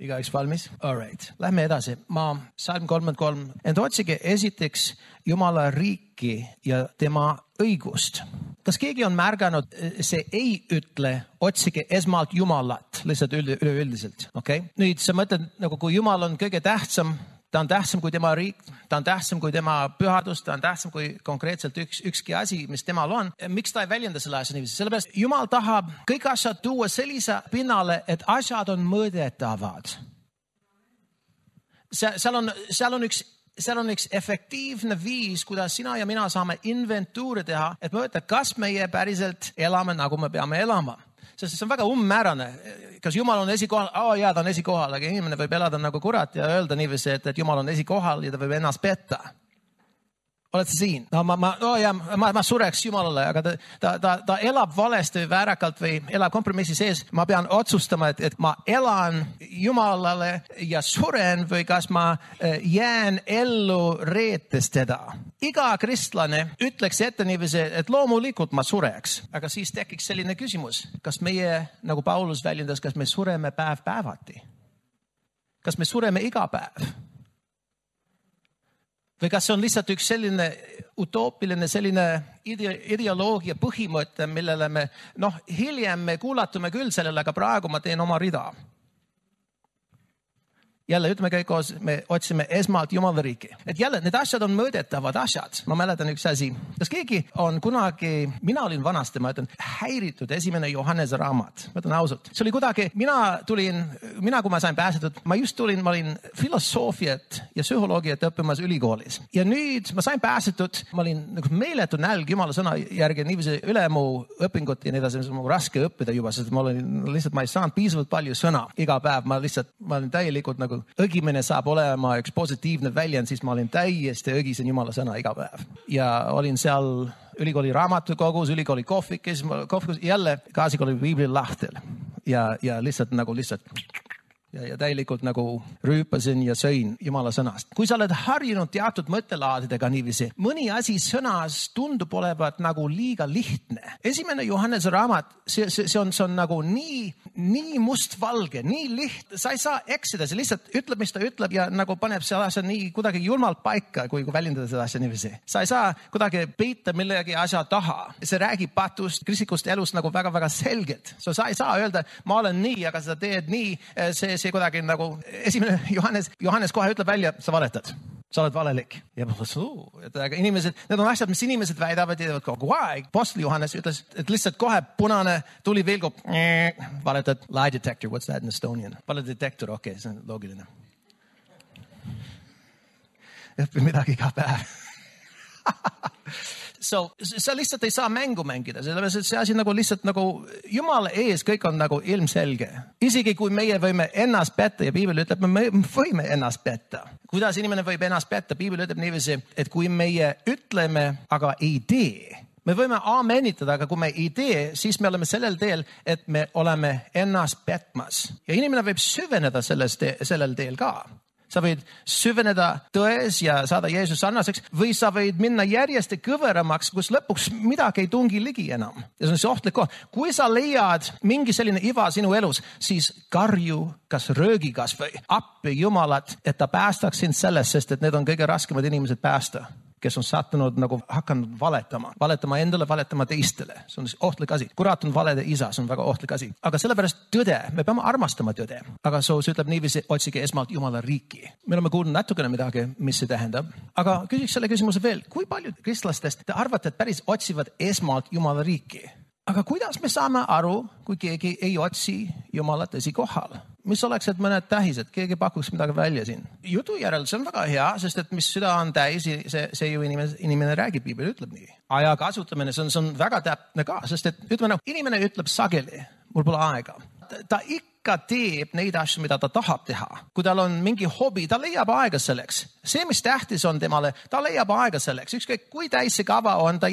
Igaüks valmis? All right. Lähme edasi. Salm 33. Ent otsige esiteks Jumala riiki ja tema õigust. Kas keegi on märganud, see ei ütle, otsige esmalt Jumalat, lihtsalt üleüldiselt. Okay? Nüüd sa mõtled, nagu kui Jumal on kõige tähtsam, ta on tähtsam kui tema riik, ta on tähtsam kui tema pühadus, ta on tähtsam kui konkreetselt ükski asi, mis temal on. Miks ta ei väljenda selle asja niiviisi? Sellepärast Jumal tahab kõik asjad tuua sellise pinnale, et asjad on mõõdetavad. Seal on üks efektiivne viis, kuidas sina ja mina saame inventuuri teha, et mõõta, kas meie päriselt elame, nagu me peame elama. Sest see on väga ummäärane. Kas Jumal on esikohal? Jaa, ta on esikohal, aga inimene võib elada nagu kurat ja öelda niiviisi, et Jumal on esikohal ja ta võib ennast petta. Oled sa siin? No, ma sureks Jumalale, aga ta elab valesti või väärakalt või elab kompromissi sees. Ma pean otsustama, et ma elan Jumalale ja suren või kas ma jään ellu reetes teda. Iga kristlane ütleks ette niiviisi, et loomulikult ma sureks. Aga siis tekiks selline küsimus. Kas meie, nagu Paulus väljendas, kas me sureme päevati? Kas me sureme iga päev? Või kas see on lihtsalt üks selline utoopiline, selline ideoloogia põhimõte, millele me, hiljem me kuulatume küll sellele, aga praegu ma teen oma rida. Jälle, ütleme kõik koos, me otsime esmalt Jumala riiki. Et jälle, need asjad on mõõdetavad asjad. Ma mäletan üks asi. Kas keegi on kunagi, mina olin vanasti, ma ütlen, häiritud esimene Johannese raamat. Ma ütlen ausalt. See oli kuidagi, kui ma sain pääsetud, ma olin filosoofiat ja psühholoogiat õppimas ülikoolis. Ja nüüd ma sain pääsetud, ma olin nagu meeletu nälg Jumala sõna järgi, niiviisi üle mu õpingut ja nii edasi, mis on raske õppida juba, sest ma ei saanud piisavalt palju sõna iga päev. Ma olin täielikult nagu õgimine saab olema üks positiivne väljend, siis ma olin täiesti õgisen Jumala sõna iga päev. Ja olin seal ülikooli raamatukogus, ülikooli kohvikus, jälle gaasikooli piibli lahtel. Ja lihtsalt ja täielikult nagu rüüpasin ja sõin Jumala sõnast. Kui sa oled harjunud teatud mõttelaadidega niiviisi, mõni asi sõnas tundub olevat nagu liiga lihtne. Esimene Johannese raamat, see on nagu nii mustvalge, nii lihtne. Sa ei saa eksida, see lihtsalt ütleb, mis ta ütleb ja nagu paneb selle asja nii kuidagi julmalt paika, kui väljendada seda asja niiviisi. Sa ei saa kuidagi peita millegi asja taha. See räägib patust, kristlikust elust nagu väga-väga selgelt. Sa ei saa öelda, ma olen nii, aga sa teed nii, see kuidagi nagu esimene Johannes kohe ütleb välja, sa valetad. Sa oled valelik. Ja inimesed, need on asjad, mis inimesed väidavad ja teevad kogu aeg. Apostel Johannes ütles, et lihtsalt kohe punane tuli vilgub. Valetad. Lie detector, what's that in Estonian? Valedetektor, okei, see on loogiline. Õppi midagi iga päev. Sa lihtsalt ei saa mängu mängida, sellepärast et see asi nagu lihtsalt nagu Jumala ees kõik on nagu ilmselge. Isegi kui meie võime ennast petta ja Piibel ütleb, me võime ennast petta. Kuidas inimene võib ennast petta? Piibel ütleb niiviisi, et kui meie ütleme, aga ei tee, me võime aamenitada, aga kui me ei tee, siis me oleme sellel teel, et me oleme ennast petmas. Ja inimene võib süveneda sellel teel ka. Sa võid süveneda tões ja saada Jeesus sarnaseks või sa võid minna järjest kõveramaks, kus lõpuks midagi ei tungi ligi enam. Ja see on see ohtlik koht. Kui sa leiad mingi selline iva sinu elus, siis karju kas röögikas või appi Jumalat, et ta päästaks sind sellest, sest et need on kõige raskemad inimesed päästa, kes on sattunud nagu hakanud valetama endale, valetama teistele. See on ohtlik asi. Kurat on valede isa, see on väga ohtlik asi. Aga sellepärast tõde, me peame armastama tõde. Aga see ütleb niiviisi, otsige esmalt Jumala riiki. Me oleme kuulnud natukene midagi, mis see tähendab. Aga küsiks selle küsimuse veel, kui paljud kristlastest te arvate, et päris otsivad esmalt Jumala riiki? Aga kuidas me saame aru, kui keegi ei otsi Jumalat esikohal? Mis oleks, et mõned tähised, keegi pakuks midagi välja siin? Jutu järel, see on väga hea, sest et mis süda on täis, see ju inimene räägib, Piibel ütleb nii. Aja kasutamine, see on väga täpne ka, sest et ütleme, inimene ütleb sageli, mul pole aega. Ta ikka teeb neid asju, mida ta tahab teha. Kui tal on mingi hobi, ta leiab aega selleks. See, mis tähtis on temale, ta leiab aega selleks. Ükskõik, kui täis see kava on, ta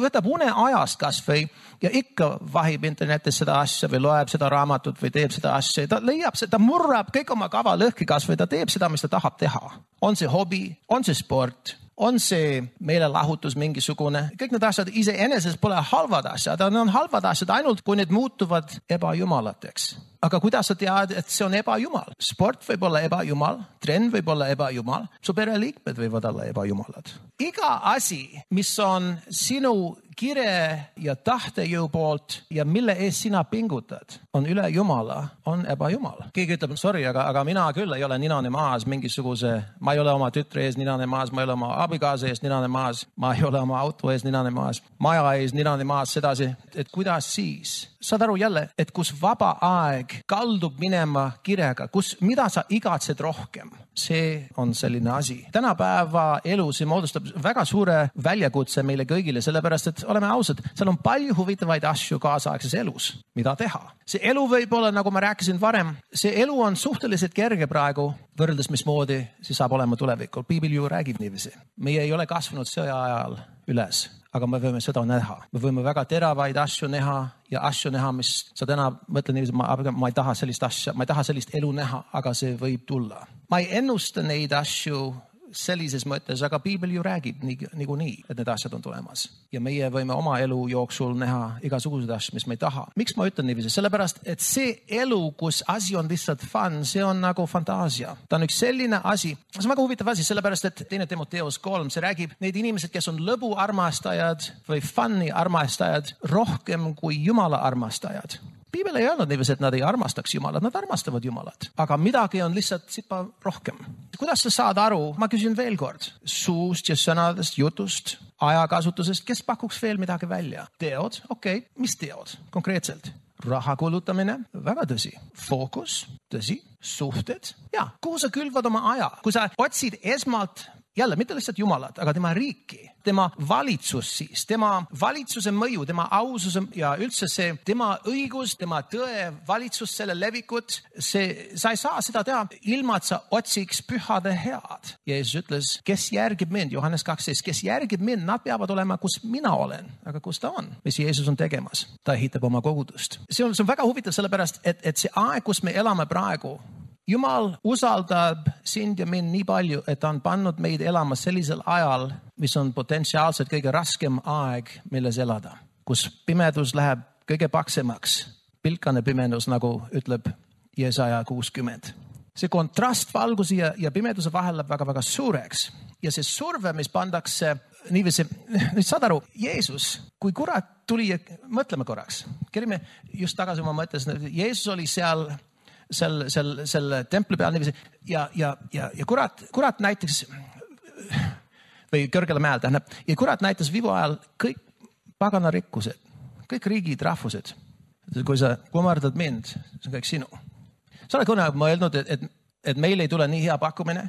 võtab une ajast kas või ja ikka vahib internetis seda asja või loeb seda raamatut või teeb seda asja. Ta leiab seda, ta murrab kõik oma kava lõhki kas või ta teeb seda, mis ta tahab teha. On see hobi, on see sport, on see meelelahutus mingisugune. Kõik need asjad iseenesest pole halvad asjad. Need on halvad asjad ainult, kui need muutuvad ebajumalateks. Aga kuidas sa tead, et see on ebajumal? Sport võib olla ebajumal, trenn võib olla ebajumal, su pereliikmed võivad olla ebajumalad. Iga asi, mis on sinu kire ja tahtejõu poolt ja mille ees sina pingutad, on üle Jumala, on ebajumal. Keegi ütleb, sorry, aga mina küll ei ole ninane maas mingisuguse, ma ei ole oma tütre ees ninane maas, ma ei ole oma abikaasa ees ninane maas, ma ei ole oma auto ees ninane maas, maja ees ninane maas, sedasi, et kuidas siis? Saad aru jälle, et kus vaba aeg kaldub minema kirega, mida sa igatsed rohkem, see on selline asi. Tänapäeva elu, see moodustab väga suure väljakutse meile kõigile, sellepärast, et oleme ausad, seal on palju huvitavaid asju kaasaegses elus, mida teha. See elu võib olla, nagu ma rääkisin varem, see elu on suhteliselt kerge praegu, võrreldes mismoodi see saab olema tulevikul. Piibel ju räägib niiviisi. Meie ei ole kasvanud sõja ajal üles, aga me võime seda näha. Me võime väga teravaid asju näha ja asju näha, mis sa täna mõtlen niiviisi, ma ei taha sellist asja, ma ei taha sellist elu näha, aga see võib tulla. Ma ei ennusta neid asju sellises mõttes, aga Piibel ju räägib niikuinii, et need asjad on tulemas. Ja meie võime oma elu jooksul näha igasuguseid asju, mis me ei taha. Miks ma ütlen niiviisi? Sellepärast, et see elu, kus asi on lihtsalt fun, see on nagu fantaasia. Ta on üks selline asi. See on väga huvitav asi, sellepärast, et 2. Timoteus 3, see räägib neid inimesed, kes on lõbu armastajad või fun'i armastajad rohkem kui Jumala armastajad. Piibel ei öelnud niiviisi, et nad ei armastaks Jumalat, nad armastavad Jumalat. Aga midagi on lihtsalt sipa rohkem. Kuidas sa saad aru, ma küsin veel kord, suust ja sõnadest, jutust, ajakasutusest, kes pakuks veel midagi välja? Teod, okei, mis teod konkreetselt? Raha kulutamine, väga tõsi. Fookus, tõsi. Suhted, ja, kuhu sa külvad oma aja? Kui sa otsid esmalt, jälle, mitte lihtsalt Jumalat, aga tema riiki, tema valitsus siis, tema valitsuse mõju, tema aususe ja üldse see, tema õigus, tema tõe, valitsus, selle levikut, sa ei saa seda teha ilma, et sa otsiks pühade head. Jeesus ütles, kes järgib mind, Johannes 12, kes järgib mind, nad peavad olema, kus mina olen, aga kus ta on, mis Jeesus on tegemas. Ta ehitab oma kogudust. See on väga huvitav sellepärast, et see aeg, kus me elame praegu, Jumal usaldab sind ja mind nii palju, et ta on pannud meid elama sellisel ajal, mis on potentsiaalselt kõige raskem aeg, milles elada. Kus pimedus läheb kõige paksemaks. Pilkane pimedus, nagu ütleb Jesaja 60. See kontrast valguse ja pimeduse vahel läheb väga-väga suureks. Ja see surve, mis pandakse niiviisi, nüüd saad aru, Jeesus, kui kurat tuli, mõtleme korraks. Kerime just tagasi oma mõttes, Jeesus oli seal templi peal niiviisi ja kurat näiteks või kõrgele mäel tähendab ja kurat näitas viivu ajal kõik pagana rikkused, kõik riigid, rahvused. Kui sa kummardad mind, see on kõik sinu. Sa oled kunagi mõelnud, et meil ei tule nii hea pakkumine?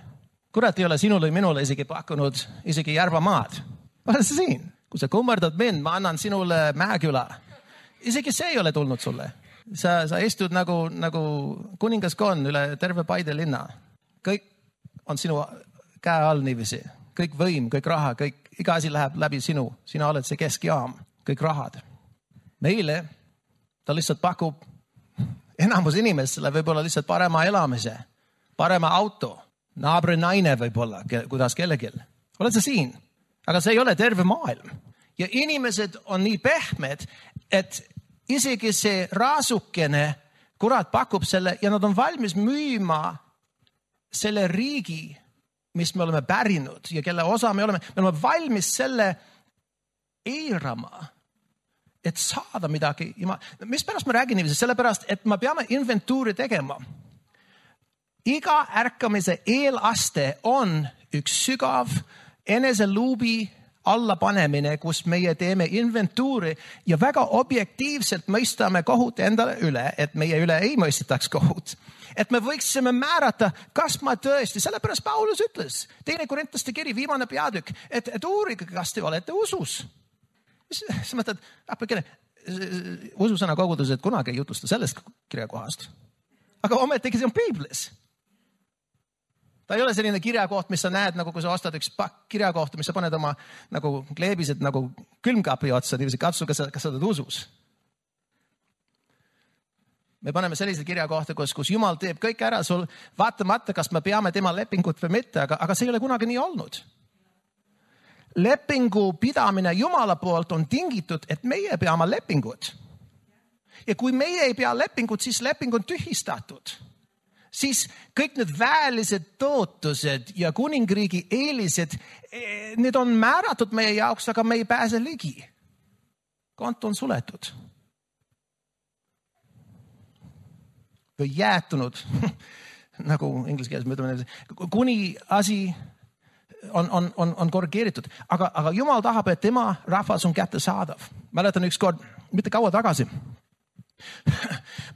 Kurat ei ole sinule või minule isegi pakkunud isegi Järvamaad. Oled sa siin? Kui sa kummardad mind, ma annan sinule Mäeküla. Isegi see ei ole tulnud sulle. Sa istud nagu kuningaskond üle terve Paide linna. Kõik on sinu käe all niiviisi. Kõik võim, kõik raha, iga asi läheb läbi sinu. Sina oled see keskjaam, kõik rahad. Meile ta lihtsalt pakub enamus inimestele võib-olla lihtsalt parema elamise, parema auto, naabri naine võib-olla, kuidas kellelgi. Oled sa siin? Aga see ei ole terve maailm. Ja inimesed on nii pehmed, et isegi see raasukene, kurat pakub selle ja nad on valmis müüma selle riigi, mis me oleme pärinud ja kelle osa me oleme valmis selle eirama, et saada midagi. Mis pärast ma räägin niiviisi? Sellepärast, et me peame inventuuri tegema. Iga ärkamise eelaste on üks sügav eneseluubi alla panemine, kus meie teeme inventuuri ja väga objektiivselt mõistame kohut endale üle, et meie üle ei mõistitaks kohut. Et me võiksime määrata, kas ma tõesti, sellepärast Paulus ütles, 2. Korintaste kiri, viimane peatükk, et uurige, kas te olete usus. Sa mõtled, ususõna kogudused kunagi ei jutusta sellest kirjakohast. Aga ometigi see on Piiblis. Ta ei ole selline kirjakoht, mis sa näed, nagu kui sa ostad üks pakk kirjakohta, mis sa paned oma nagu kleebised nagu külmkapi otsa, niiviisi katsu, kas sa oled usus. Me paneme sellise kirjakohta, kus Jumal teeb kõik ära sul, vaatamata, kas me peame tema lepingut või mitte, aga see ei ole kunagi nii olnud. Lepingu pidamine Jumala poolt on tingitud, et meie peame lepingut. Ja kui meie ei pea lepingut, siis leping on tühistatud. Siis kõik need väelised tootused ja kuningriigi eelised, need on määratud meie jaoks, aga me ei pääse ligi. Konto on suletud. Või jäätunud, nagu inglise keeles me ütleme, kuni asi on korrigeeritud. Aga Jumal tahab, et tema rahvas on kättesaadav. Mäletan üks kord, mitte kaua tagasi.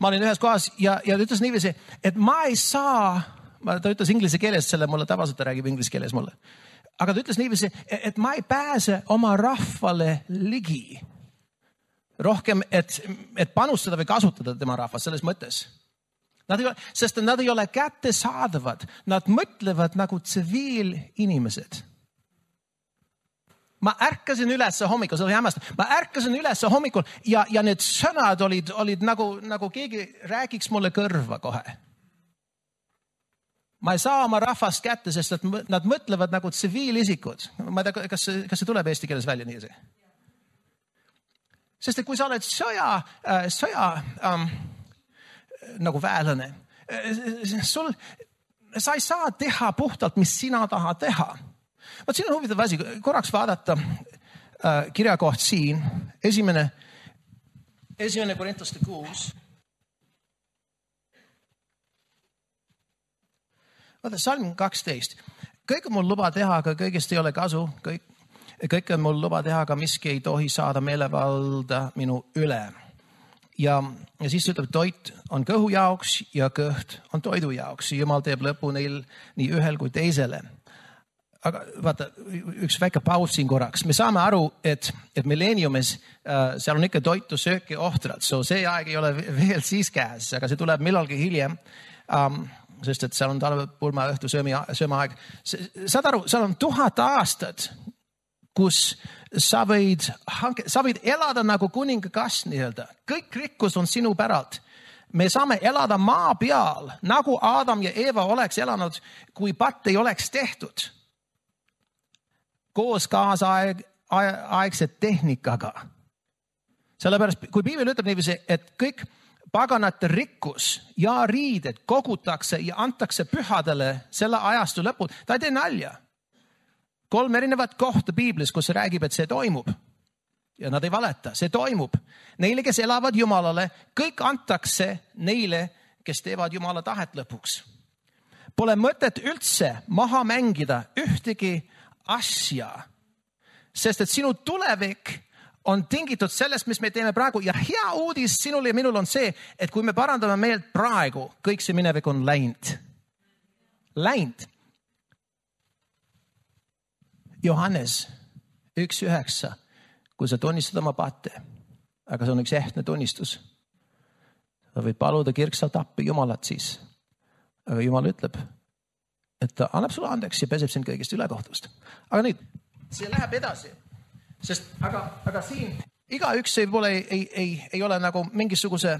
Ma olin ühes kohas ja ta ütles niiviisi, et ma ei saa, ta ütles inglise keeles selle mulle, tavaliselt ta räägib inglise keeles mulle. Aga ta ütles niiviisi, et ma ei pääse oma rahvale ligi. Rohkem, et panustada või kasutada tema rahvas selles mõttes. Sest nad ei ole kättesaadavad. Nad mõtlevad nagu tsiviilinimesed. Ma ärkasin üles hommikul, see oli hämmastav. Ma ärkasin üles hommikul ja need sõnad olid nagu keegi räägiks mulle kõrva kohe. Ma ei saa oma rahvast kätte, sest nad mõtlevad nagu tsiviilisikud. Ma ei tea, kas see tuleb eesti keeles välja nii? Sest et kui sa oled sõja nagu väelane, sa ei saa teha puhtalt, mis sina tahad teha. Vaat siin on huvitav asi, korraks vaadata kirjakoht siin, esimene Korintuste 6. Vaata, salm 12. Kõik on mul luba teha, aga kõigest ei ole kasu. Kõik on mul luba teha, aga miski ei tohi saada meelevalda minu üle. Ja siis ütleb, toit on kõhu jaoks ja kõht on toidu jaoks. Jumal teeb lõpu neil nii ühel kui teisele. Aga vaata, üks väike paus siin korraks. Me saame aru, et milleeniumis seal on ikka toitu, sööki, ohtrad. See aeg ei ole veel siis käes, aga see tuleb millalgi hiljem. Sest et seal on talvepulma õhtu sööma aeg. Saad aru, seal on 1000 aastat, kus sa võid elada nagu kuningakas nii-öelda. Kõik rikkus on sinu päralt. Me saame elada maa peal, nagu Adam ja Eva oleks elanud, kui patt ei oleks tehtud. Koos kaasaegse tehnikaga. Sellepärast, kui piibel ütleb niiviisi, et kõik paganate rikkus ja riided kogutakse ja antakse pühadele selle ajastu lõpul, ta ei tee nalja. 3 erinevat kohta piiblis, kus see räägib, et see toimub. Ja nad ei valeta, see toimub. Neile, kes elavad Jumalale, kõik antakse neile, kes teevad Jumala tahet lõpuks. Pole mõtet üldse maha mängida ühtegi asja, sest et sinu tulevik on tingitud sellest, mis me teeme praegu. Ja hea uudis sinul ja minul on see, et kui me parandame meelt praegu, kõik see minevik on läinud. Läinud. Johannes 1.9, kui sa tunnistad oma patte, aga see on üks ehtne tunnistus. Sa võid paluda kirksalt appi Jumalat siis. Aga Jumal ütleb, et ta annab sulle andeks ja peseb sind kõigist ülekohtust. Aga nüüd, see läheb edasi. Sest aga siin igaüks ei ole nagu mingisuguse,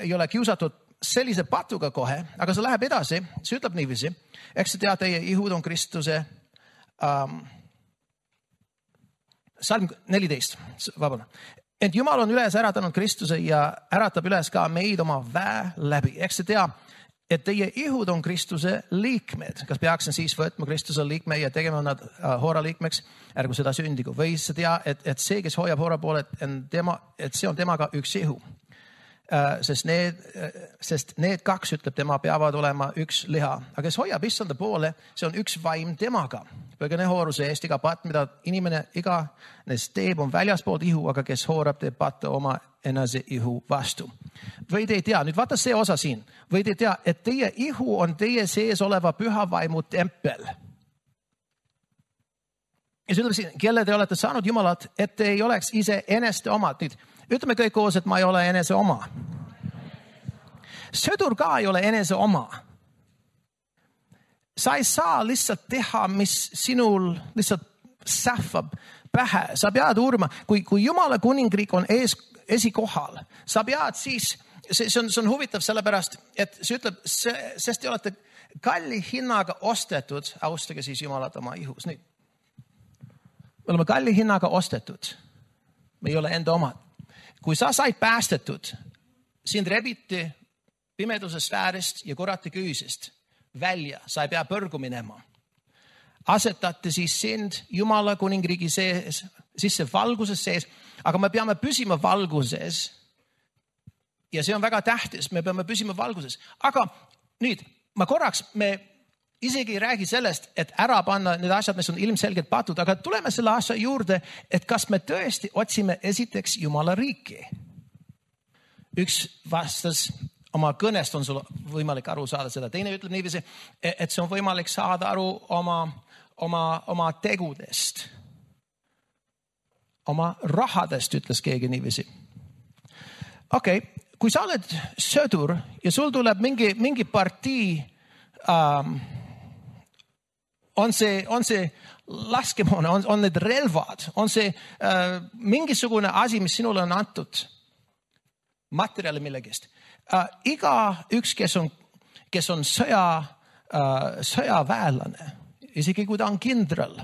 ei ole kiusatud sellise patuga kohe, aga see läheb edasi. See ütleb niiviisi, eks sa tead, teie ihud on Kristuse salm 14, vabandust. Et Jumal on üles äratanud Kristuse ja äratab üles ka meid oma väe läbi. Eks sa tea, et teie ihud on Kristuse liikmed. Kas peaksin siis võtma Kristuse liikme ja tegema nad hoora liikmeks, ärgu seda sündigu. Või sa tea, et see, kes hoiab hoora poole, et see on temaga üks ihu. Sest need 2, ütleb tema, peavad olema üks liha. Aga kes hoiab issanda poole, see on üks vaim temaga. Põgene hooruse eest iga patt, mida inimene iganes teeb, on väljaspoolt ihu, aga kes hoorab, teeb patta oma enese ihu vastu. Või te ei tea, nüüd vaata see osa siin. Või te ei tea, et teie ihu on teie sees oleva püha vaimu tempel. Ja see ütleb siin, kelle te olete saanud Jumalat, et te ei oleks ise eneste omad. Nüüd, ütleme kõik koos, et ma ei ole enese oma. Sõdur ka ei ole enese oma. Sa ei saa lihtsalt teha, mis sinul lihtsalt sähvab pähe. Sa pead uurima, kui Jumala kuningriik on esikohal, sa pead siis, see on huvitav sellepärast, et see ütleb, sest te olete kalli hinnaga ostetud, austage siis Jumalat oma ihus. Nüüd, me oleme kalli hinnaga ostetud. Me ei ole enda omad. kui sa said päästetud, sind rebiti pimeduse sfäärist ja kurati küüsist välja, sa ei pea põrgu minema. Asetati siis sind Jumala kuningriigi sees, sisse valguses sees, aga me peame püsima valguses. Ja see on väga tähtis, me peame püsima valguses. Aga nüüd, me isegi ei räägi sellest, et ära panna need asjad, mis on ilmselgelt patud, aga tuleme selle asja juurde, et kas me tõesti otsime esiteks Jumala riiki. Üks vastas, oma kõnest on sul võimalik aru saada seda. Teine ütleb niiviisi, et see on võimalik saada aru oma tegudest. Oma rahadest, ütles keegi niiviisi. Okei, kui sa oled sõdur ja sul tuleb mingi partii, on see laskemoon, on need relvad, on see mingisugune asi, mis sinule on antud materjali millegist. Iga üks, kes on sõjaväelane, isegi kui ta on kindral,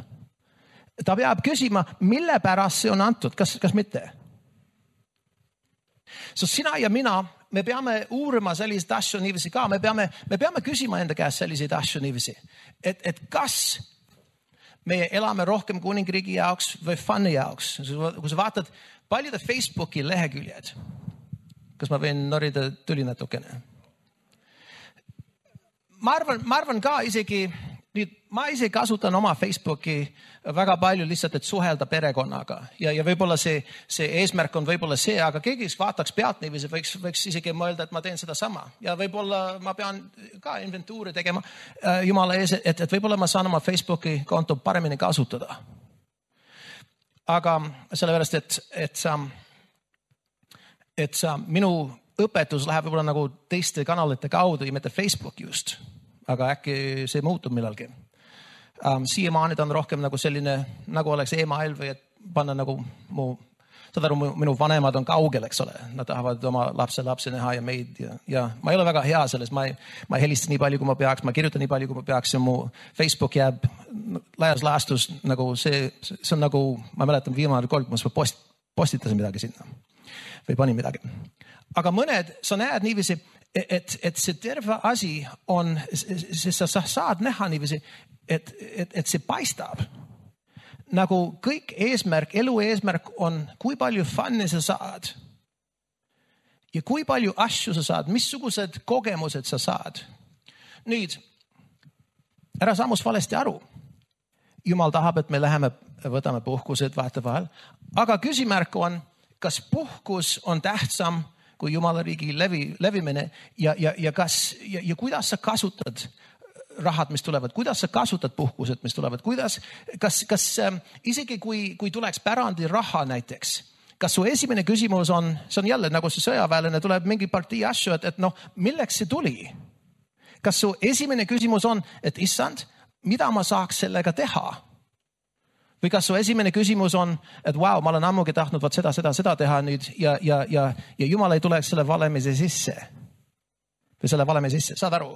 ta peab küsima, mille pärast see on antud, kas mitte? So sina ja mina, me peame uurima selliseid asju niiviisi ka, me peame küsima enda käest selliseid asju niiviisi, et kas me elame rohkem kuningriigi jaoks või fun'i jaoks. Kui sa vaatad paljude Facebooki leheküljed, kas ma võin norida tuli natukene? Ma arvan ka isegi, ma ise kasutan oma Facebooki väga palju lihtsalt, et suhelda perekonnaga ja võib-olla see eesmärk on võib-olla see, aga keegi vaataks pealt niiviisi, võiks isegi mõelda, et ma teen seda sama ja võib-olla ma pean ka inventuuri tegema Jumala ees, et võib-olla ma saan oma Facebooki konto paremini kasutada. Aga sellepärast, et minu õpetus läheb võib-olla nagu teiste kanalite kaudu ja mitte Facebook just. Aga äkki see muutub millalgi. Siiamaani ta on rohkem nagu selline, nagu oleks email või et panna nagu minu vanemad on kaugel, eks ole. Nad tahavad oma lapse näha ja meid ja ma ei ole väga hea selles. Ma ei helista nii palju, kui ma peaks, ma kirjutan nii palju, kui ma peaks ja mu Facebook jääb laias laastus nagu see on nagu, ma mäletan viimane kord, kui ma postitasin midagi sinna või panin midagi. Aga mõned, sa näed niiviisi, et see terve asi on, sest sa saad näha niiviisi, et see paistab. Nagu kõik eesmärk, elu eesmärk on, kui palju fun'i sa saad. Ja kui palju asju sa saad, missugused kogemused sa saad. Nüüd, ära sammus valesti aru. Jumal tahab, et me läheme, võtame puhkused vahetevahel. Aga küsimärk on, kas puhkus on tähtsam kui Jumala riigi levimine ja kuidas sa kasutad rahad, mis tulevad, kuidas sa kasutad puhkused, mis tulevad, kas isegi kui tuleks pärandi raha näiteks, kas su esimene küsimus on, see on jälle nagu see sõjaväelane, tuleb mingi partii asju, et milleks see tuli? Kas su esimene küsimus on, et issand, mida ma saaks sellega teha? Või kas su esimene küsimus on, et wow, ma olen ammugi tahtnud seda teha nüüd ja Jumal ei tuleks selle valemise sisse. Või selle valemi sisse, saad aru?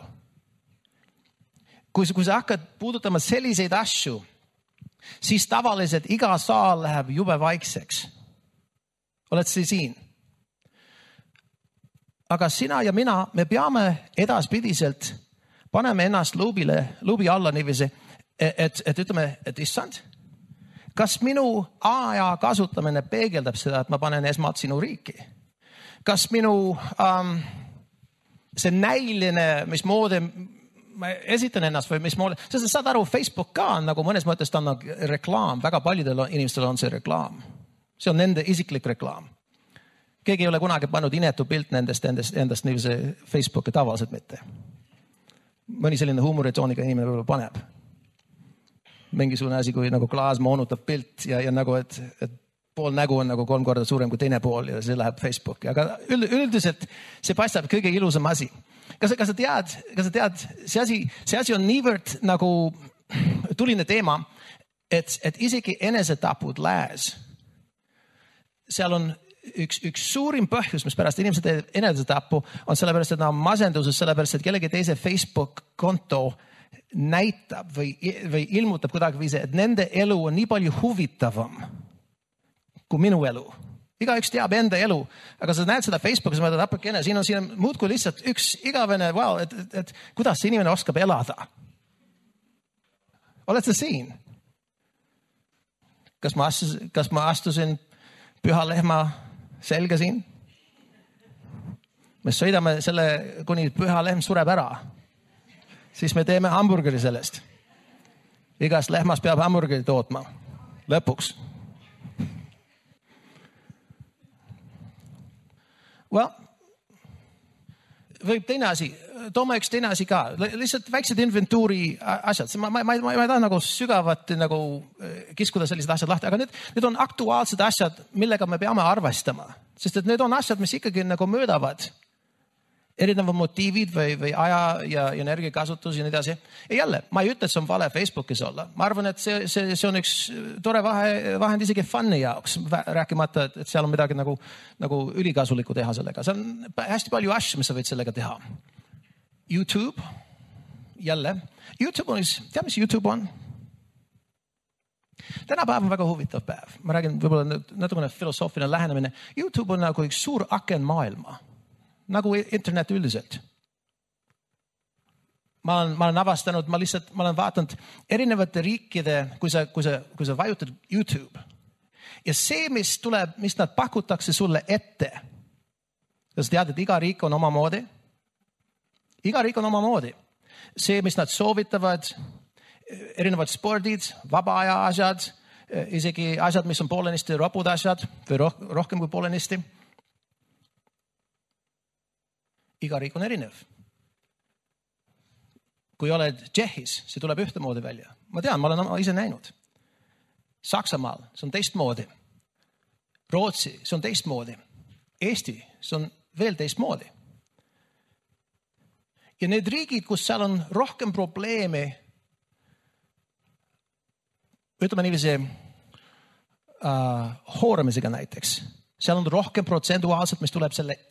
Kui sa hakkad puudutama selliseid asju, siis tavaliselt iga saal läheb jube vaikseks. Oled sa siin? Aga sina ja mina, me peame edaspidiselt paneme ennast luubi alla niiviisi, et ütleme, et issand, kas minu aja kasutamine peegeldab seda, et ma panen esmalt sinu riiki? Kas minu see näiline, mis moodi ma esitan ennast või mis moodi, sest saad aru, Facebook ka on nagu mõnes mõttes ta on reklaam, väga paljudel inimestel on see reklaam. See on nende isiklik reklaam. Keegi ei ole kunagi pannud inetu pilt endast niivise Facebooki tavaliselt mitte. Mõni selline huumoritooniga inimene võib-olla paneb. Mingisugune asi, kui nagu klaas moonutab pilt ja nagu, et pool nägu on nagu 3 korda suurem kui teine pool ja see läheb Facebooki. Aga üldiselt see paistab kõige ilusam asi. Kas sa tead, see asi on niivõrd nagu tuline teema, et isegi enesetapud lääs. Seal on üks suurim põhjus, mis pärast inimesed teeb enesetapu, on sellepärast, et nad on masenduses, sellepärast, et kellegi teise Facebook-konto näitab või ilmutab kuidagi viise, et nende elu on nii palju huvitavam kui minu elu. Igaüks teab enda elu, aga sa näed seda Facebookis, mõtled apakene, siin on muudkui lihtsalt üks igavene, et kuidas see inimene oskab elada. Oled sa siin? Kas ma astusin püha lehma selga siin? Me sõidame selle, kuni püha lehm sureb ära. Siis me teeme hamburgeri sellest. Igast lehmas peab hamburgeri tootma. Lõpuks. Võib teine asi, toome üks teine asi ka, lihtsalt väiksed inventuuri asjad, ma ei taha nagu sügavat nagu kiskuda sellised asjad lahti, aga need on aktuaalsed asjad, millega me peame arvestama, sest et need on asjad, mis ikkagi nagu möödavad erinevad motiivid või aja ja energiakasutus ja nii edasi. Ja jälle, ma ei ütle, et see on vale Facebookis olla. Ma arvan, et see on üks tore vahend isegi fun'i jaoks, rääkimata, et seal on midagi nagu ülikasulikku teha sellega. See on hästi palju asju, mis sa võid sellega teha. YouTube, jälle. YouTube on, tea mis YouTube on? Tänapäev on väga huvitav päev. Ma räägin võib-olla natukene filosoofiline lähenemine. YouTube on nagu üks suur aken maailma. Nagu internet üldiselt. Ma olen avastanud, ma olen vaatanud erinevate riikide, kui sa vajutad YouTube. Ja see, mis nad pakutakse sulle ette. Sa tead, et iga riik on omamoodi. Iga riik on omamoodi. See, mis nad soovitavad, erinevad spordid, vaba aja asjad, isegi asjad, mis on poolenisti ropud asjad või rohkem kui poolenisti. Iga riik on erinev. Kui oled Tšehhis, see tuleb ühtemoodi välja. Ma tean, ma olen ise näinud. Saksamaal, see on teistmoodi. Rootsi, see on teistmoodi. Eesti, see on veel teistmoodi. Ja need riigid, kus seal on rohkem probleeme, ütleme niiviisi hooramisega näiteks. Seal on rohkem protsentuaalselt, mis tuleb selle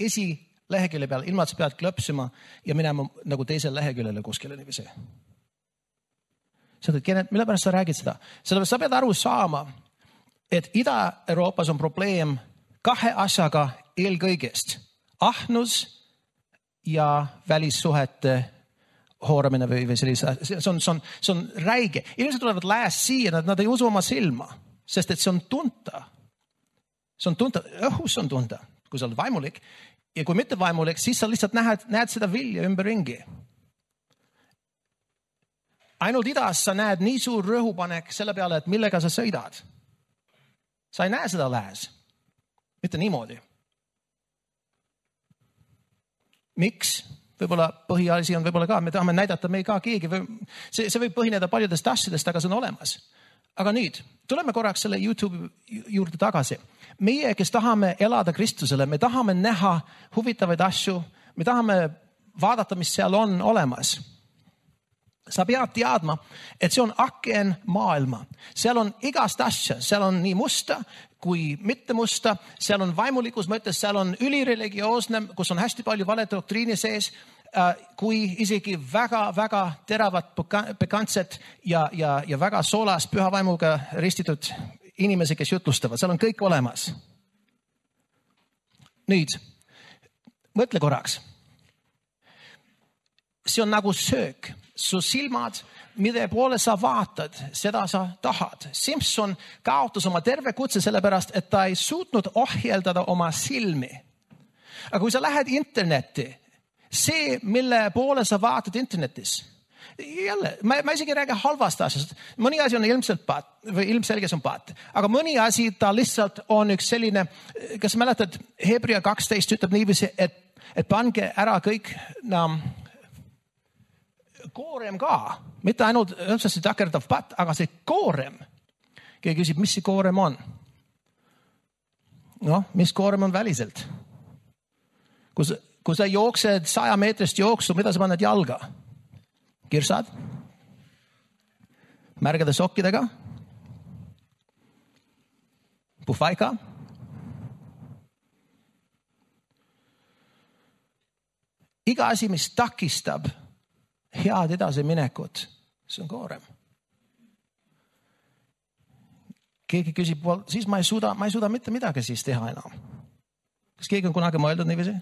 lehekülje peal, ilma et sa pead klõpsima ja minema nagu teisel leheküljele kuskile niiviisi. Mille pärast sa räägid seda? Sellepärast sa pead aru saama, et Ida-Euroopas on probleem kahe asjaga eelkõigest. Ahnus ja välissuhete hooramine või sellise. See on räige. Inimesed tulevad lääs siia, nad ei usu oma silma, sest et see on tunta. See on tunta, õhus on tunta, kui sa oled vaimulik. Ja kui mitte vaimulik, siis sa lihtsalt näed seda vilja ümberringi. Ainult idas sa näed nii suur rõhupanek selle peale, et millega sa sõidad. Sa ei näe seda lääs. Mitte niimoodi. Miks? Võib-olla põhiasi on võib-olla ka, me tahame näidata, me ei ka keegi. See võib põhineda paljudest asjadest, aga see on olemas. Aga nüüd, tuleme korraks selle YouTube juurde tagasi. Meie, kes tahame elada Kristusele, me tahame näha huvitavaid asju, me tahame vaadata, mis seal on olemas. Sa pead teadma, et see on aken maailma. Seal on igast asja, seal on nii musta kui mitte musta, seal on vaimulikus mõttes, seal on ülireligioosne, kus on hästi palju vale doktriini sees, kui isegi väga teravad pikantset ja väga soolas püha vaimuga ristitud inimesi, kes jutlustavad. Seal on kõik olemas. Nüüd, mõtle korraks. See on nagu söök. Su silmad, mille poole sa vaatad, seda sa tahad. Simpson kaotas oma terve kutse sellepärast, et ta ei suutnud ohjeldada oma silmi. Aga kui sa lähed internetti, see, mille poole sa vaatad internetis, jälle, ma isegi ei räägi halvast asjast. Mõni asi on ilmselge on paat. Aga mõni asi ta lihtsalt on üks selline, kas mäletad, Hebrea 12 ütleb niiviisi, et pange ära kõik koorem ka. Mitte ainult õmpsasti takerdav patt, aga see koorem. Keegi küsib, mis see koorem on? Mis koorem on väliselt? Kui sa jooksed 100 meetrist jooksu, mida sa paned jalga? Kirsad? Märgade sokkidega? Puhvaika? Iga asi, mis takistab head edasi minekut, see on koorem. keegi küsib, siis ma ei suuda mitte midagi siis teha enam. Kas keegi on kunagi mõeldud niiviisi?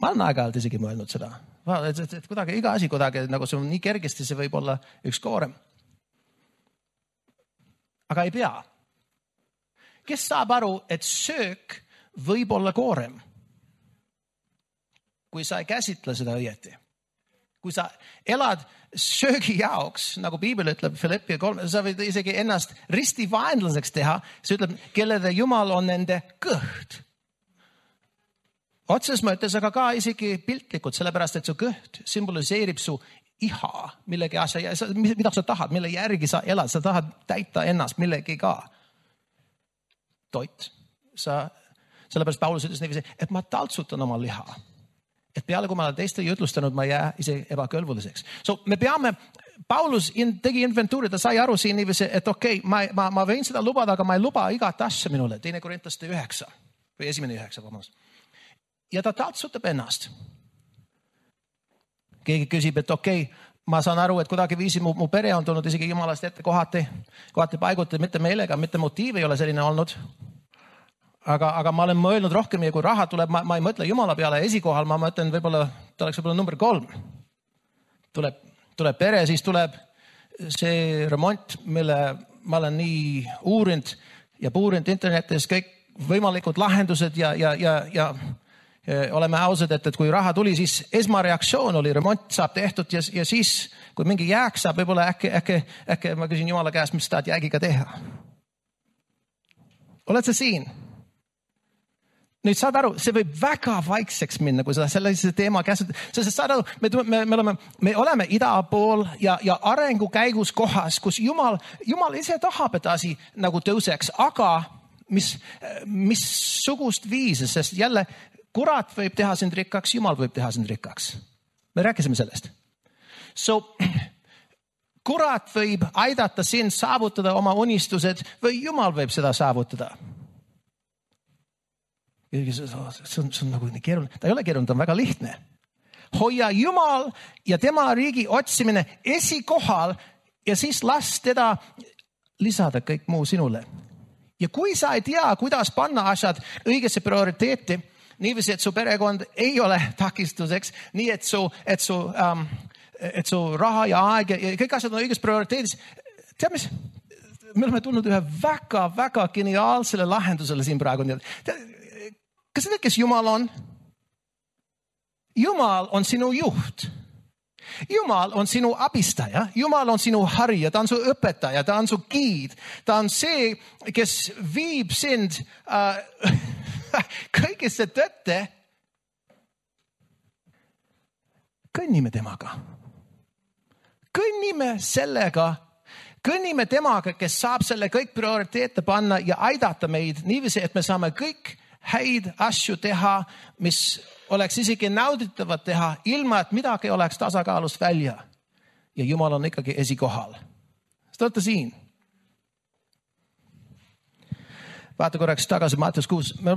Ma olen aeg-ajalt isegi mõelnud seda. Et kuidagi iga asi kuidagi, nagu see on nii kergesti, see võib olla üks koorem. Aga ei pea. Kes saab aru, et söök võib olla koorem? Kui sa ei käsitle seda õieti. Kui sa elad söögi jaoks, nagu Piibel ütleb Philippi 3, sa võid isegi ennast risti vaenlaseks teha. See ütleb, kellede Jumal on nende kõht. Otses mõttes, aga ka isegi piltlikult, sellepärast, et su kõht symboliseerib su iha, millegi asja, mida sa tahad, mille järgi sa elad, sa tahad täita ennast millegi ka. Toit. Sellepärast Paulus ütles niiviisi, et ma taltsutan oma liha. Et peale, kui ma olen teiste jutlustanud, ma jää ise ebakõlbuliseks. Me peame, Paulus tegi inventuuri, ta sai aru siin niiviisi, et okei, ma võin seda lubada, aga ma ei luba igat asja minule. 2 Korintaste 9 või 1:9, vabandust. Ja ta taltsutab ennast. Keegi küsib, et okei, ma saan aru, et kuidagi viisi mu pere on tulnud isegi Jumalast ette kohati paiguti, mitte meelega, mitte motiiv ei ole selline olnud. Aga ma olen mõelnud rohkem ja kui raha tuleb, ma ei mõtle Jumala peale esikohal, ma mõtlen võib-olla, ta oleks võib-olla number 3. Tuleb pere, siis tuleb see remont, mille ma olen nii uurinud ja puurinud internetis kõik võimalikud lahendused ja oleme ausad, et kui raha tuli, siis esmareaktsioon oli, remont saab tehtud ja siis, kui mingi jääk saab, võib-olla äkki ma küsin Jumala käest, mis tahad jäägiga teha. Oled sa siin? Nüüd saad aru, see võib väga vaikseks minna, kui sa sellise teema käsitled. Sest saad aru, me oleme ida pool ja arengu käigus kohas, kus Jumal ise tahab, et asi nagu tõuseks, aga missugust viisi, sest jälle kurat võib teha sind rikkaks, Jumal võib teha sind rikkaks. Me rääkisime sellest. Kurat võib aidata sind saavutada oma unistused või Jumal võib seda saavutada. See on nagu nii keeruline. Ta ei ole keeruline, ta on väga lihtne. Hoia Jumal ja tema riigi otsimine esikohal ja siis las teda lisada kõik muu sinule. Ja kui sa ei tea, kuidas panna asjad õigesse prioriteeti, niiviisi, et su perekond ei ole takistuseks, nii et su raha ja aeg ja kõik asjad on õiges prioriteedis. Tead mis? Me oleme tulnud ühe väga geniaalsele lahendusele siin praegu. Kas sa tead, kes Jumal on? Jumal on sinu juht. Jumal on sinu abistaja. Jumal on sinu harija. Ta on su õpetaja. Ta on su giid. Ta on see, kes viib sind kõigesse tõtte. Kõnnime temaga. Kõnnime sellega. Kõnnime temaga, kes saab selle kõik prioriteete panna ja aidata meid niiviisi, et me saame kõik häid asju teha, mis oleks isegi nauditavad teha, ilma et midagi oleks tasakaalust välja. Ja Jumal on ikkagi esikohal. Te olete siin. Vaata korraks tagasi Matteus 6. Me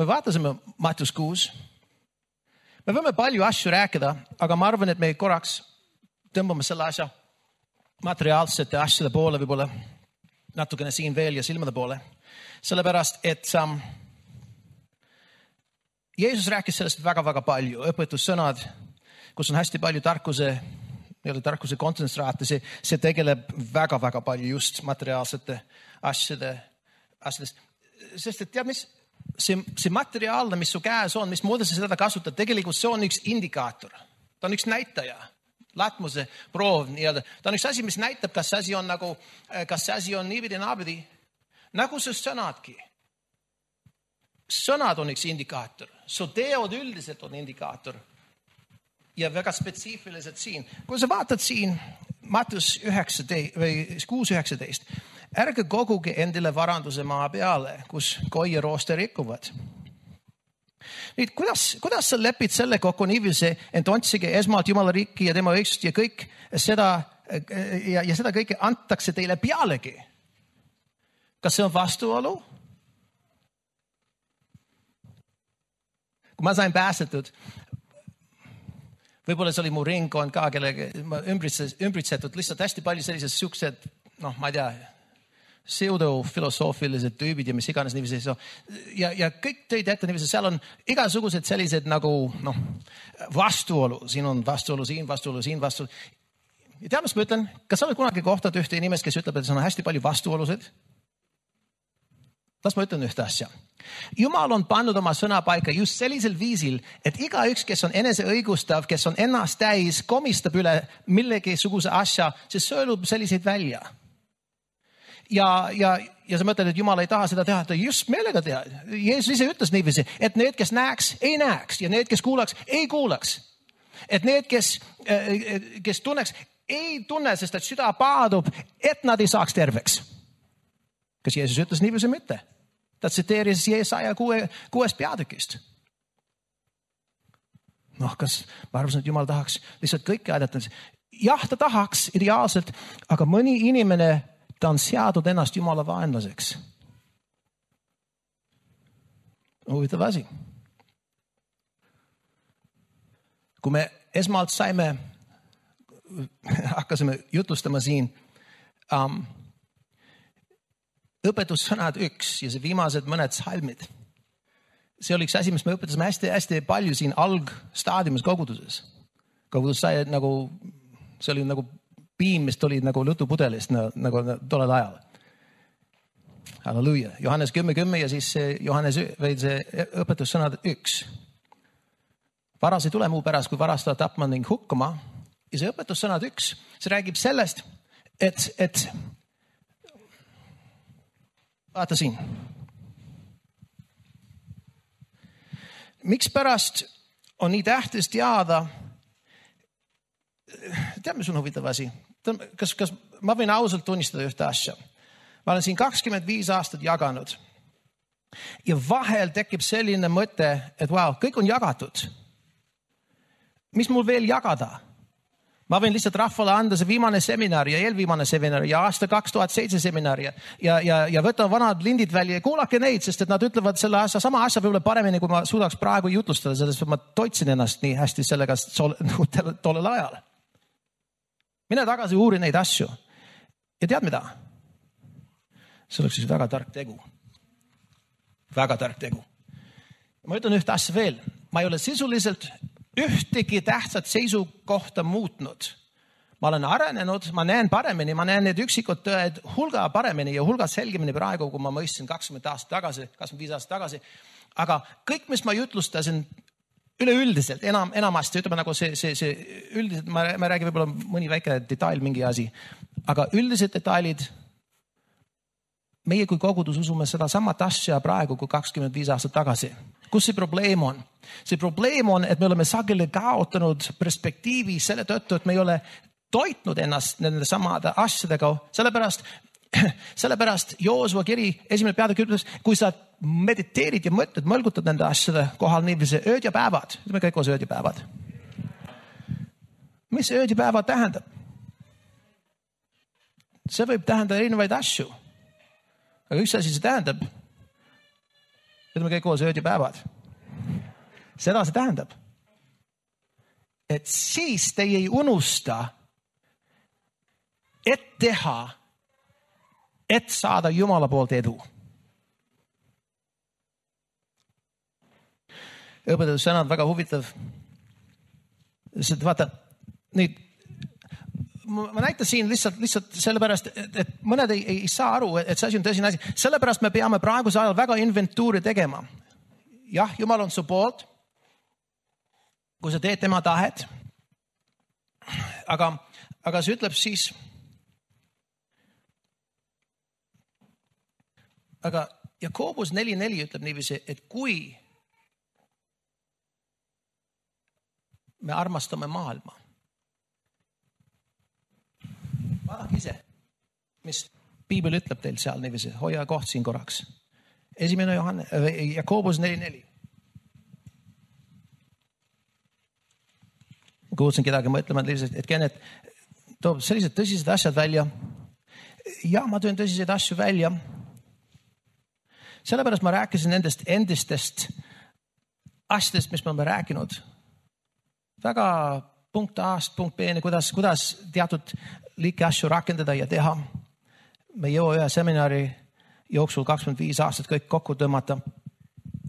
vaatasime Matteus 6. Me võime palju asju rääkida, aga ma arvan, et me korraks tõmbame selle asja materiaalsete asjade poole võib-olla natukene siin veel ja silmade poole. Sellepärast, et Jeesus rääkis sellest väga palju. Õpetussõnad, kus on hästi palju tarkuse kontsentraati, see tegeleb väga palju just materiaalsete asjadest. Sest et tead mis? See materiaalne, mis su käes on, mis moodi sa seda kasutad, tegelikult see on üks indikaator. Ta on üks näitaja. Latmuse proov nii-öelda. Ta on üks asi, mis näitab, kas see asi on niividi naabidi. Nagu su sõnadki. Sõnad on üks indikaator. Su teod üldiselt on indikaator. Ja väga spetsiifiliselt siin. Kui sa vaatad siin Matteus 6:19, ärge koguge endile varanduse maa peale, kus koi ja rooste rikuvad. Nüüd, kuidas sa lepid selle kokku niiviisi, et otsige esmalt Jumala riiki ja tema õigsust ja kõik seda ja seda kõike antakse teile pealegi? Kas see on vastuolu? Kui ma sain päästetud, võib-olla see oli mu ringkond ka, kellega ma ümbritsetud lihtsalt hästi palju sellised suksed ma ei tea, pseudofilosoofilised tüübid ja mis iganes niiviisi. Ja kõik tõid ette niiviisi, seal on igasugused sellised nagu vastuolu. Siin on vastuolu, siin vastuolu, siin vastuolu. Ja tead, mis ma ütlen? Kas sa oled kunagi kohtanud ühte inimest, kes ütleb, et see on hästi palju vastuolusid? Las ma ütlen ühte asja. Jumal on pannud oma sõna paika just sellisel viisil, et igaüks, kes on eneseõigustav, kes on ennast täis, komistab üle millegisuguse asja, siis sõelub selliseid välja. Ja sa mõtled, et Jumal ei taha seda teha, ta just meelega teha. Jeesus ise ütles niiviisi, et need, kes näeks, ei näeks ja need, kes kuulaks, ei kuulaks. Et need, kes tunneks, ei tunne, sest et süda paadub, et nad ei saaks terveks. Kas Jeesus ütles niiviisi mitte? Ta tsiteeris Jeesaja 6 peatükist. Kas ma arvasin, et Jumal tahaks lihtsalt kõike aidata? Jah, ta tahaks ideaalselt, aga mõni inimene ta on seadud ennast Jumala vaenlaseks. Huvitav asi. Kui me esmalt hakkasime jutlustama siin õpetussõnad 1 ja see viimased mõned salmid. See oli üks asi, mis me õpetasime hästi palju siin algstaadiumis koguduses. Kogudus sai see oli nagu piim, mis tuli nagu lutupudelist nagu tollel ajal. Halleluja. Johannes 10:10 ja siis see õpetussõnad 1. Varas ei tule muu pärast, kui varastada, tapma ning hukkuma. Ja see õpetussõnad 1, see räägib sellest, et vaata siin. Miks pärast on nii tähtis teada, tead, mis on huvitav asi? Kas ma võin ausalt tunnistada ühte asja? Ma olen siin 25 aastat jaganud ja vahel tekib selline mõte, et kõik on jagatud. Mis mul veel jagada? Ma võin lihtsalt rahvale anda see viimane seminar ja eelviimane seminar ja aasta 2007 seminar ja võtan vanad lindid välja ja kuulake neid, sest et nad ütlevad selle sama asja võib-olla paremini, kui ma suudaks praegu jutlustada, sellest ma toitsin ennast nii hästi sellega tollel ajal. Mine tagasi uuri neid asju. Ja tead mida? See oleks siis väga tark tegu. Väga tark tegu. Ma ütlen ühte asja veel. Ma ei ole sisuliselt ühtegi tähtsat seisukohta muutnud. Ma olen arenenud, ma näen paremini, ma näen need üksikud tõed hulga paremini ja hulga selgemini praegu, kui ma mõistsin 25 aastat tagasi. Aga kõik, mis ma jutlustasin üleüldiselt, enamasti, ütleme nagu see üldiselt, ma räägin võib-olla mõni väike detail, mingi asi, aga üldised detailid, meie kui kogudus usume seda samat asja praegu kui 25 aastat tagasi. Kus see probleem on? See probleem on, et me oleme sageli kaotanud perspektiivi selle tõttu, et me ei ole toitnud ennast nende samade asjadega, sellepärast Joosua kiri 1. peatükk ütles, kui sa mediteerid ja mõtled, mõlgutad nende asjade kohal niiviisi ööd ja päevad. Ütleme kõik koos ööd ja päevad. Mis ööd ja päevad tähendab? See võib tähendada erinevaid asju. Aga üks asi see tähendab, ütleme kõik koos ööd ja päevad. Seda see tähendab, et siis te ei unusta, et teha, et saada Jumala poolt edu. Õpetussõnad väga huvitav. Vaata, nüüd, ma näitan siin lihtsalt sellepärast, et mõned ei saa aru, et see asi on tõsine asi. Sellepärast me peame praeguse ajal väga inventuuri tegema. Jah, Jumal on su poolt, kui sa teed tema tahet. Aga see ütleb siis, aga Jakobus 4:4 ütleb niiviisi, et kui me armastame maailma. Vaadake ise, mis Piibel ütleb teil seal niiviisi, hoia koht siin korraks. 1. Jakobus 4:4. Kuulsin kedagi mõtlema, et Kennet toob sellised tõsised asjad välja. Ja ma tõin tõsiseid asju välja. Sellepärast ma rääkisin nendest endistest asjadest, mis me oleme rääkinud. Väga punkt A-st, punkt B-ni, kuidas teatud liike asju rakendada ja teha. me ei jõua ühe seminari jooksul 25 aastat kõik kokku tõmmata.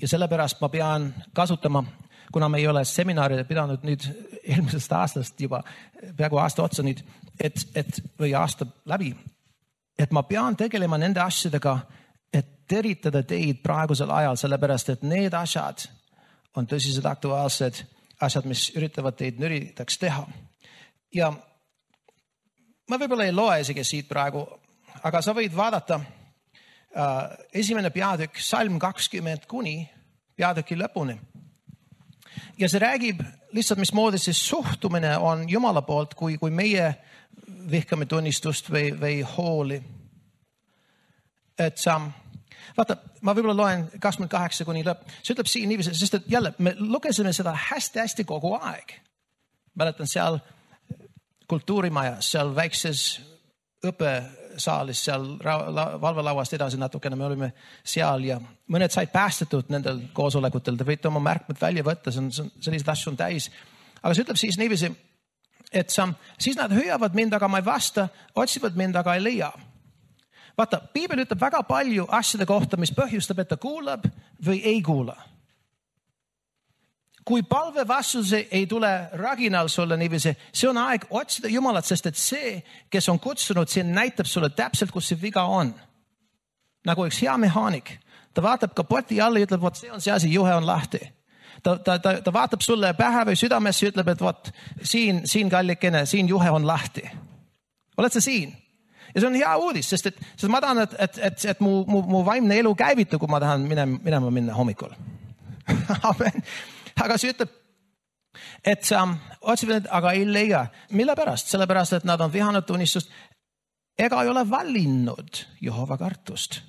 Ja sellepärast ma pean kasutama, kuna me ei ole seminari pidanud nüüd eelmisest aastast juba peaaegu aasta otsa nüüd, või aasta läbi, et ma pean tegelema nende asjadega, et teritada teid praegusel ajal, sellepärast et need asjad on tõsiselt aktuaalsed asjad, mis üritavad teid nüritaks teha. Ja ma võib-olla ei loe isegi siit praegu, aga sa võid vaadata esimene peatükk, salm 20 kuni peatüki lõpuni. Ja see räägib lihtsalt, mismoodi see suhtumine on Jumala poolt, kui meie vihkame tunnistust või hooli. Et vaata, ma võib-olla loen 28 kuni lõpp. See ütleb siin niiviisi, sest et jälle, me lugesime seda hästi kogu aeg. Mäletan seal kultuurimajas, seal väikses õppesaalis, seal valvelauast edasi natukene, me olime seal ja mõned said päästetud nendel koosolekutel. Te võite oma märkmed välja võtta, sellised asju on täis. Aga see ütleb siis niiviisi, et siis nad hüüavad mind, aga ma ei vasta, otsivad mind, aga ei leia. Vaata, Piibel ütleb väga palju asjade kohta, mis põhjustab, et ta kuulab või ei kuula. Kui palve vastuse ei tule raginal sulle niiviisi, see on aeg otsida Jumalat, sest et see, kes on kutsunud, see näitab sulle täpselt, kus see viga on. Nagu üks hea mehaanik. Ta vaatab kapoti alla ja ütleb, vot see on see asi, juhe on lahti. Ta vaatab sulle pähe või südamesse ja ütleb, et vot siin kallikene, siin juhe on lahti. Oled sa siin? Ja see on hea uudis, sest ma tahan, et mu vaimne elu käivitu, kui ma tahan minna hommikul. Amen. Aga see ütleb, et otsivad, aga ei leia. Mille pärast? Sellepärast, et nad on vihanud tunnistust ega ei ole valinud Jehova kartust.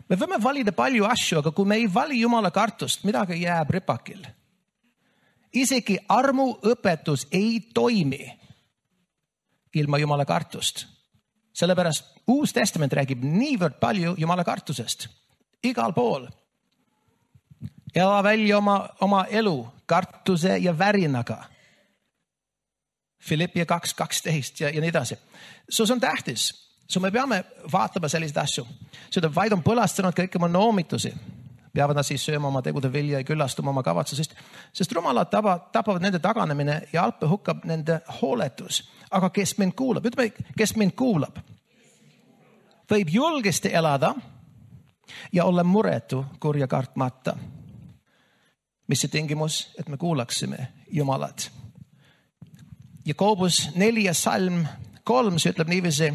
Me võime valida palju asju, aga kui me ei vali Jumala kartust, midagi jääb ripakil. Isegi armuõpetus ei toimi ilma Jumala kartust. Sellepärast Uus Testament räägib niivõrd palju Jumala kartusest. Igal pool. Ela välja oma elu kartuse ja värinaga. Filippia 2:12 ja nii edasi. See on tähtis. Me peame vaatama selliseid asju. Seda vaid on põlastanud kõik oma noomitusi. Peavad nad siis sööma oma tegude vilja ja küllastuma oma kavatsusest. Sest rumalad tapavad nende taganemine ja alpe hukkab nende hooletus. Aga kes mind kuulab? Ütleme, kes mind kuulab? Võib julgesti elada ja olla muretu kurja kartmata. Mis see tingimus, et me kuulaksime Jumalat. Jakobus 4 salm 3 ütleb niiviisi.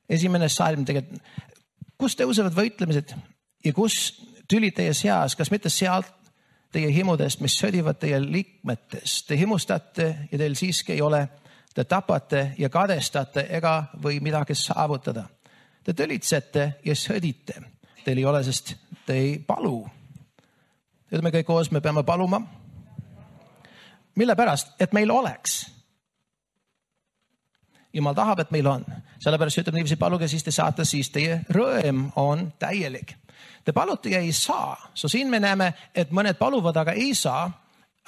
Esimene salm tegelikult. Kus tõusevad võitlemised ja kus tülid teie seas, kas mitte sealt teie himudest, mis sõdivad teie liikmetest. Te himustate ja teil siiski ei ole. Te tapate ja kadestate ega või midagi saavutada. Te tölitsete ja sõdite. Teil ei ole, sest te ei palu. Ütleme kõik koos, me peame paluma. Mille pärast? Et meil oleks. Jumal tahab, et meil on. Sellepärast ütleb niiviisi, paluge, siis te saate, siis teie rõõm on täielik. Te palute ja ei saa. Siin me näeme, et mõned paluvad, aga ei saa.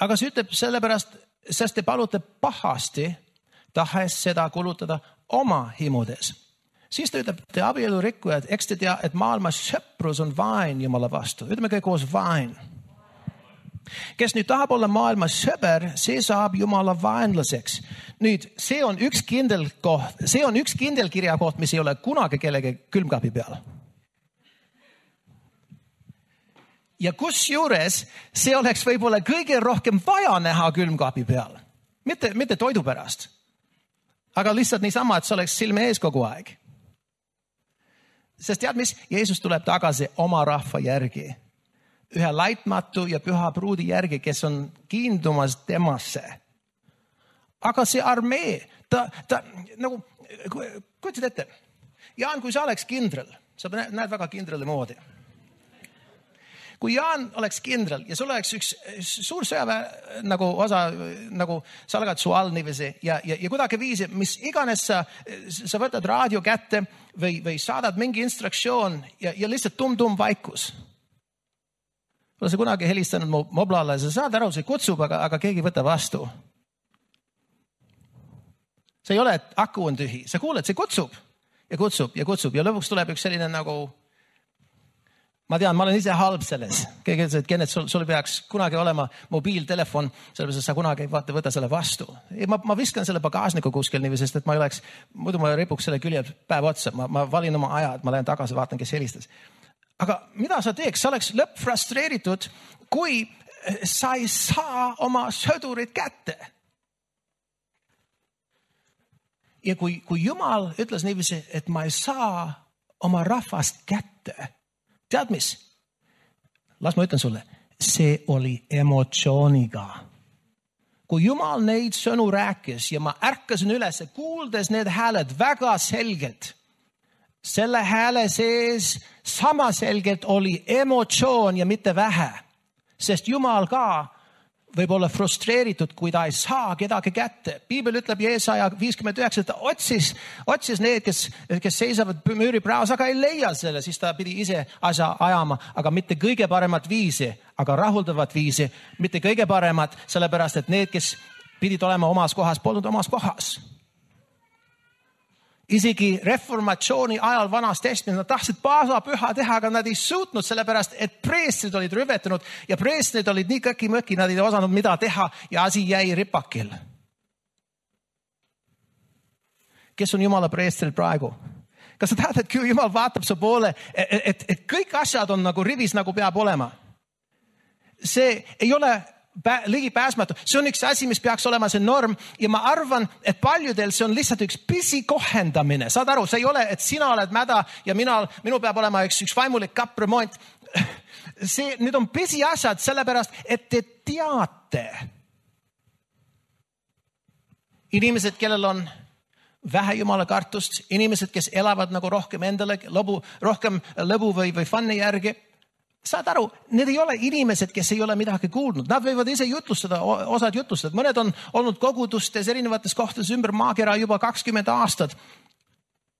Aga see ütleb sellepärast, sest te palute pahasti, tahes seda kulutada oma himudes. Siis ta ütleb, te abielu rikkujad, eks te tea, et maailmas sõprus on vaen Jumala vastu. Ütleme kõik koos vaen. Kes nüüd tahab olla maailmas sõber, see saab Jumala vaenlaseks. Nüüd, see on üks kindel kirjakoht, mis ei ole kunagi kellegi külmkapi peal. Ja kusjuures see oleks võib-olla kõige rohkem vaja näha külmkapi peal. Mitte toidu pärast. Aga lihtsalt niisama, et see oleks silme ees kogu aeg. Sest tead mis? Jeesus tuleb tagasi oma rahva järgi. Ühe laitmatu ja püha pruudi järgi, kes on kiindumas temasse. Aga see armee, ta nagu, kujutad ette. Jaan, kui sa oleks kindral, sa näed väga kindrali moodi. Kui Jaan oleks kindral ja sul oleks üks suur sõjaväe nagu osa, nagu sa oled su all niiviisi ja kuidagi viisi, mis iganes sa võtad raadio kätte või saadad mingi instruktsioon ja lihtsalt tum vaikus. Olen sa kunagi helistanud moblale, sa saad aru, see kutsub, aga keegi võtta vastu. See ei ole, et aku on tühi. Sa kuuled, see kutsub ja kutsub ja kutsub ja lõpuks tuleb üks selline nagu, ma tean, ma olen ise halb selles. Keegi ütles, et Kennet, sul peaks kunagi olema mobiiltelefon, sellepärast, et sa kunagi võta selle vastu. Ma viskan selle bagaasniku kuskil niiviisi, sest et ma ei oleks, muidu ma ripuks selle külje päev otsa. Ma valin oma aja, et ma lähen tagasi, vaatan, kes helistas. Aga mida sa teeks? Sa oleks lõpp-frustreeritud, kui sa ei saa oma sõdurit kätte. Ja kui Jumal ütles niiviisi, et ma ei saa oma rahvast kätte, tead mis? Las ma ütlen sulle, see oli emotsiooniga. Kui Jumal neid sõnu rääkis ja ma ärkasin üles, kuuldes need hääled väga selgelt, selle hääle sees sama selgelt oli emotsioon ja mitte vähe, sest Jumal ka võib olla frustreeritud, kui ta ei saa kedagi kätte. Piibel ütleb Jeesaja 59, et ta otsis need, kes seisavad müüri praos, aga ei leia selle, siis ta pidi ise asja ajama, aga mitte kõige paremat viisi, aga rahuldavat viisi, mitte kõige paremat, sellepärast, et need, kes pidid olema omas kohas, polnud omas kohas. Isegi reformatsiooni ajal Vanas Testamentis nad tahtsid paasapüha teha, aga nad ei suutnud, sellepärast, et preestrid olid rüvetanud ja preestrid olid nii kõki-mõki, nad ei osanud mida teha ja asi jäi ripakil. Kes on Jumala preestrid praegu? Kas sa tead, et kui Jumal vaatab su poole, et kõik asjad on nagu rivis, nagu peab olema? See ei ole ligipääsmatu. See on üks asi, mis peaks olema see norm ja ma arvan, et paljudel see on lihtsalt üks pisi kohendamine. Saad aru, see ei ole, et sina oled mäda ja minu peab olema üks vaimulik kappremont. Need on pisi asjad sellepärast, et te teate. Inimesed, kellel on vähe Jumala kartust, inimesed, kes elavad nagu rohkem endale, rohkem lõbu või fun'i järgi. Saad aru, need ei ole inimesed, kes ei ole midagi kuulnud. Nad võivad ise jutlustada, osad jutlustada. Mõned on olnud kogudustes erinevates kohtades ümber maakera juba 20 aastat.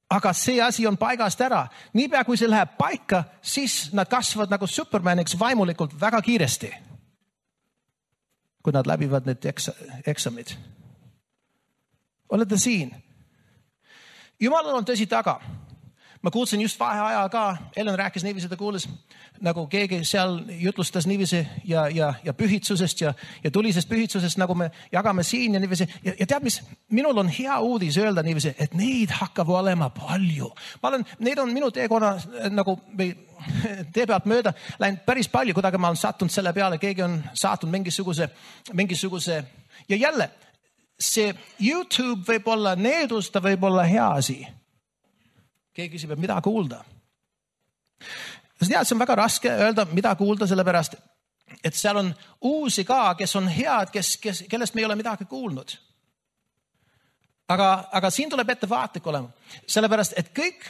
Aga see asi on paigast ära. Niipea kui see läheb paika, siis nad kasvavad nagu Supermaniks vaimulikult väga kiiresti. Kui nad läbivad need eksamid. Olete siin? Jumalal on tõsi taga. Ma kuulsin just vaheajal ka, Ellen rääkis niiviisi, ta kuulis, nagu keegi seal jutlustas niiviisi ja pühitsusest ja tulisest pühitsusest, nagu me jagame siin ja niiviisi. Ja tead mis, minul on hea uudis öelda niiviisi, et neid hakkab olema palju. Need on minu teekonna nagu tee pealt mööda läinud päris palju, kuidagi ma olen sattunud selle peale, keegi on saatnud mingisuguse ja jälle, see YouTube võib olla needus, ta võib olla hea asi. Keegi küsib, et mida kuulda. Sa tead, see on väga raske öelda, mida kuulda, sellepärast, et seal on uusi ka, kes on head, kellest me ei ole midagi kuulnud. Aga siin tuleb ettevaatlik olema, sellepärast, et kõik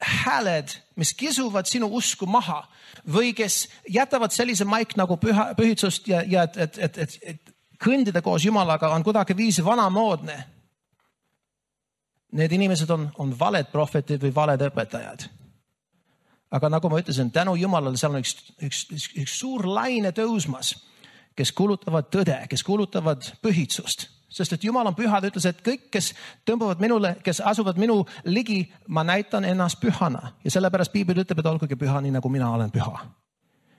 hääled, mis kisuvad sinu usku maha või kes jätavad sellise maik nagu pühitsust ja et kõndida koos Jumalaga on kuidagi viisi vanamoodne. Need inimesed on valed prohvetid või valed õpetajad. Aga nagu ma ütlesin, tänu Jumalale seal on üks suur laine tõusmas, kes kuulutavad tõde, kes kuulutavad pühitsust. Sest et Jumal on püha, ta ütles, et kõik, kes tõmbavad minule, kes asuvad minu ligi, ma näitan ennast pühana. Ja sellepärast Piibel ütleb, et olgugi püha, nii nagu mina olen püha.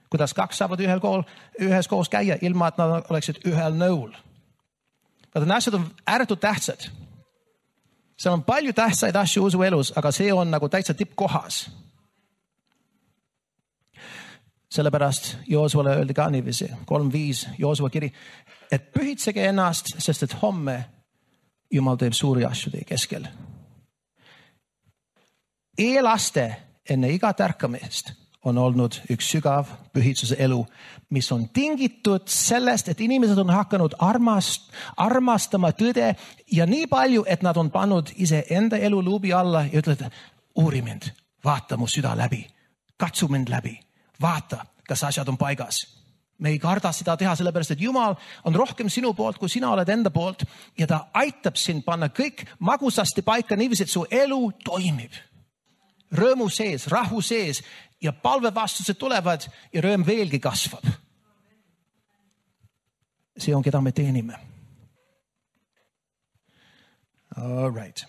Kuidas kaks saavad ühes koos käia, ilma et nad oleksid ühel nõul. Need asjad on ääretult tähtsad. Seal on palju tähtsaid asju usu elus, aga see on nagu täitsa tippkohas. Sellepärast Joosuvale öeldi ka niiviisi, 3.5 Joosuva kiri, et pühitsege ennast, sest et homme Jumal teeb suuri asju teie keskel. Eelaste enne iga tärkamist on olnud üks sügav pühitsuse elu, mis on tingitud sellest, et inimesed on hakanud armastama tõde ja nii palju, et nad on pannud ise enda elu luubi alla ja ütlevad, uuri mind, vaata mu süda läbi, katsu mind läbi, vaata, kas asjad on paigas. Me ei karda seda teha, sellepärast, et Jumal on rohkem sinu poolt, kui sina oled enda poolt ja ta aitab sind panna kõik magusasti paika niiviisi, et su elu toimib. Rõõmu sees, rahu sees ja palvevastused tulevad ja rõõm veelgi kasvab. See on, keda me teenime. All right.